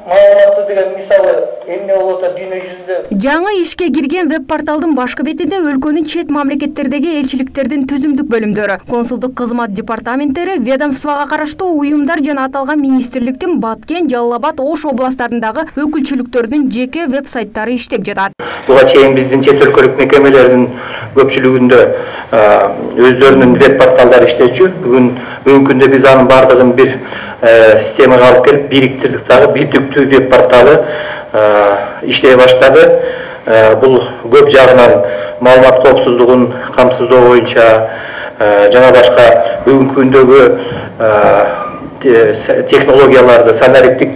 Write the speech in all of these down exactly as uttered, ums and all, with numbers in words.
маалыматты деген мисалы эмне болот дүйнө жүзүндө. Жаңы ишке кирген веб-порталдын башкы бетинде өлкөнүн чет мамлекеттердеги элчиликтердин түзүмдүк бөлүмдөрү, консулдук кызмат департаменттери, ведомствого караштуу уюмдар жана аталган министрликтин Баткен, Жалал Абад, Ош областарындагы өкүлчүлүктөрдүн жеке веб-сайттары иштеп жатат. Буга чейин биздин чет өлкөлүк мекемелердин көпчүлүгүндө өздөрүнүн веб-порталдары иштечү. Бүгүн бүгүнкү күндө биз анын бардыгын бир системага алып келип бириктирдик дагы бир түптүү веб-порталы иштей баштады. Бул көп жагынан маалымат коопсуздугун камсыздоо боюнча жана башка бүгүнкү күндөгү технологияларды, санариптик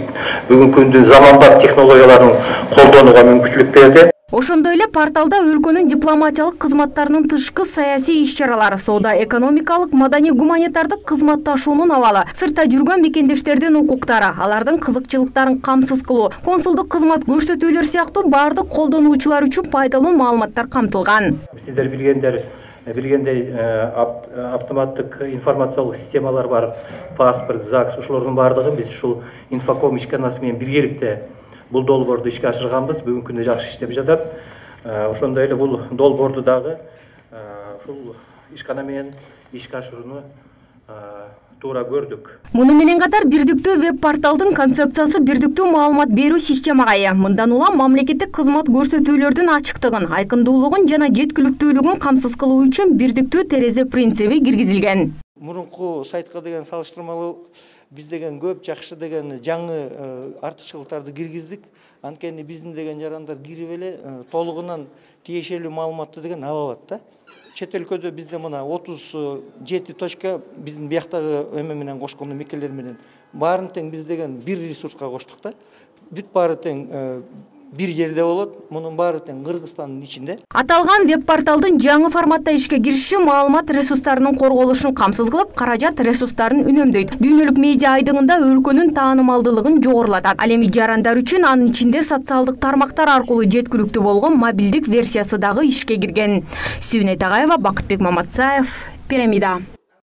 бүгүнкү күндүн заманбап технологияларын колдонууга мүмкүнчүлүк берди. Ошондой эле порталда өлкөнүн дипломатиялык кызматтарынын тышкы саясий иш-чаралары, соода экономикалык, маданий гуманитардык кызматташуунун абалы, сыртта жүргөн мекендештердин укуктары, алардын кызыкчылыктарын камсыз кылуу, консулдук кызмат көрсөтүүлөр сыяктуу бардык колдонуучулар үчүн пайдалуу маалыматтар камтылган. Сиздер билгендер билгендей автоматтык информациялык системалар бар, паспорт, ЗАГС, ушулардын бардыгы биз ушул инфоком ишканасы менен биргеликте бул долбоорду ишке ашырганбыз. Бүгүнкү күндө жакшы иштеп жатат. Ошондой эле бул долбоорду дагы ушул ишкана менен ишке ашырууну туура көрдүк. Муну менен катар бирдиктүү веб-порталдын концепциясы бирдиктүү маалымат берүү системага ээ. Мындан улам мамлекеттик кызмат көрсөтүүлөрдүн ачыктыгын, айкындуулугун жана жеткиликтүүлүгүн камсыз кылуу үчүн бирдиктүү терезе принциби киргизилген. Мурунку сайтка деген салыштырмалуу биз деген көп жакшы деген жаңы артыкчылыктарды киргиздик. Анткени биздин деген жарандар кирип эле толугунан тиешелүү маалыматты деген ала алат да. Чет өлкөдө бизде мына отуз жети точка биздин бияктагы эме менен кошкондо мекелер менен баарын тең биз деген бир ресурска коштук да. Бүт баары тең бир жерде болот. Мунун баары тең Кыргызстандын ичинде. Аталган веб-порталдын жаңы форматта ишке кириши маалымат ресурстарынын корголушун камсыз кылып, каражат ресурстарын үнөмдөйт. Дүйнөлүк медиа айдыгында өлкөнүн таанымалдуулугун жогорулатат. Ал эми жарандар үчүн анын ичинде социалдык тармактар аркылуу жеткиликтүү болгон мобилдик версиясы дагы ишке кирген. Сүйүнөй Тагаева, Бакытбек Маматсаев, Пирамида.